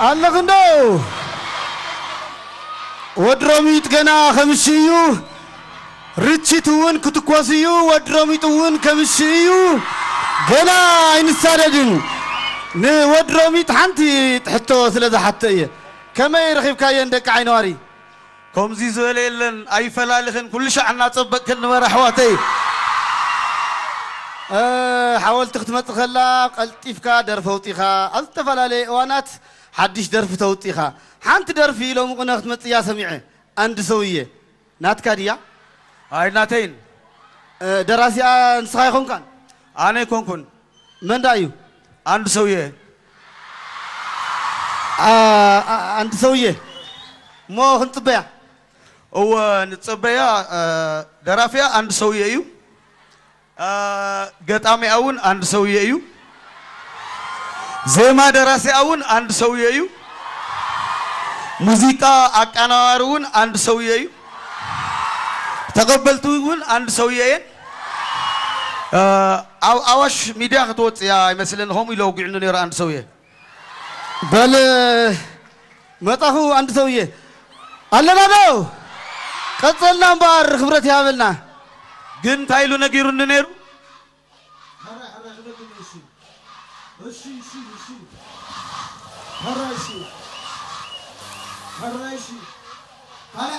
ኣለኽንዶ? ወድሮሚጥ ገና ከምሽ እዩ። ርችት እውን ክትኮስ እዩ። ወድሮሚጥ እውን ከምሽ እዩ። ገና ኣይንሳደድን። ንወድሮሚጥ ሓንቲ ሕቶ ስለ ዝሓተ እየ። ከመይ ረኺብካየን ደቂ ዓይነዋሪ? ከምዚ ዝበለ የለን፣ ኣይፈላልኽን፣ ኩሉ ሻዕ እናጸበቅክን ንበር ኣሕዋተይ። እ፣ ሓወልቲ ክትመጽእ ከላ ቀልጢፍካ ደርፊ ኣውጺኻ፣ ኣብ ዝተፈላለየ እዋናት ሓድሽ ደርፊ ተውጺኻ። ሓንቲ ደርፊ ሎሚ ቅነ ክትመጽእ እያ ሰሚዐ። ኣንድ ሰውዬ ናትካ ድያ? ኣይ ናተይን። እ፣ ደራሲኣ ንስኻ ኣይኮንካን? ኣነ ኣይኮንኩን። መን ደኣ እዩ? ኣንድ ሰውዬ። ኣ-፣ ኣ-፣ ኣንድ ሰውዬ። እሞ ክንጽበያ? እወ ንጸበያ። እ፣ ደራፊያ ኣንድ ሰውዬ እዩ። እ፣ ገጣሚያ እውን ኣንድ ሰውዬ እዩ። ዜማ ደራሲያ እውን ኣንድ ሰውዬ እዩ። ሙዚቃ ኣቀናባሪ እውን ኣንድ ሰውዬ እዩ። ተቐበልቲ እውን ኣንድ ሰውዬ እየን። እ፣ ኣብ ኣዋሽ ሚድያ ክትወፅእ እያ ኣይመስልን፣ ከምኡ ኢሉ ኣውጊዕኒ ነይሩ ኣንድ ሰውዬ። በል መጣኹ ኣንድ ሰውዬ ኣለና ዶ? ቀጸልና እምበኣር ክብረት ይሃበልና። ግን እንታይ ኢሉ ነጊሩኒ ነይሩ?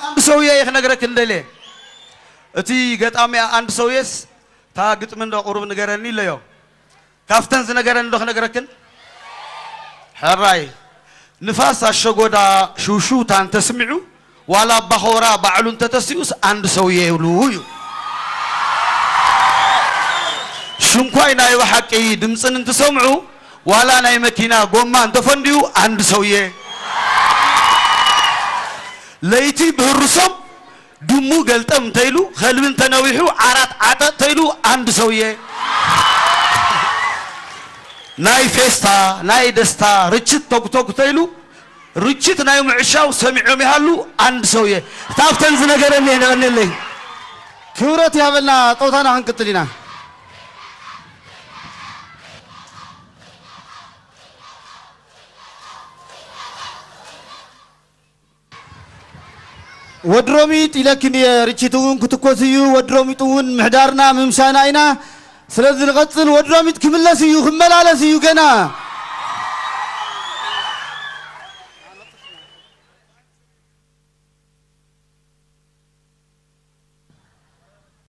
ኣንድ ሰውዬ እየ ክነግረክን ደልየ። እቲ ገጣሚያ ኣንድ ሰውዬስ እታ ግጥሚ እንዶ ቁሩብ ንገረኒ ኢለዮ። ካብተን ዝነገረኒ ዶ ክነግረክን? ሕራይ ንፋስ ኣሸጎዳ ሽውሽውታ እንተስሚዑ ዋላ ኣባኾራ ባዕሉ እንተተሲኡስ ኣንድ ሰውዬ ይብሉ እዩ። ሽንኳይ ናይ ብሓቂ ድምፅን እንትሰምዑ ዋላ ናይ መኪና ጎማ እንተፈንድዩ ኣንድ ሰውዬ። ለይቲ ብህርሶም ድሙ ገልጠም እንተይሉ ከልቢ እንተነዊሑ ዓራት ዓጠጥ ተይሉ ኣንድ ሰውዬ። ናይ ፌስታ ናይ ደስታ ርችት ቶግቶግ ተይሉ ርችት ናይ ምዕሻው ሰሚዖም ይሃሉ ኣንድ ሰውዬ። ካብተን ዝነገረኒ የቐንየለይ። ክብረት ይሃበልና። ጸውታና ክንቅጽል ኢና። ወድሮሚጥ ኢለክን እየ። ርችት እውን ክትኮስ እዩ። ወድሮሚጥ እውን ምሕዳርና ምምሻና ኢና። ስለዚ ንቐጽል። ወድሮሚጥ ክምለስ እዩ፣ ክመላለስ እዩ ገና።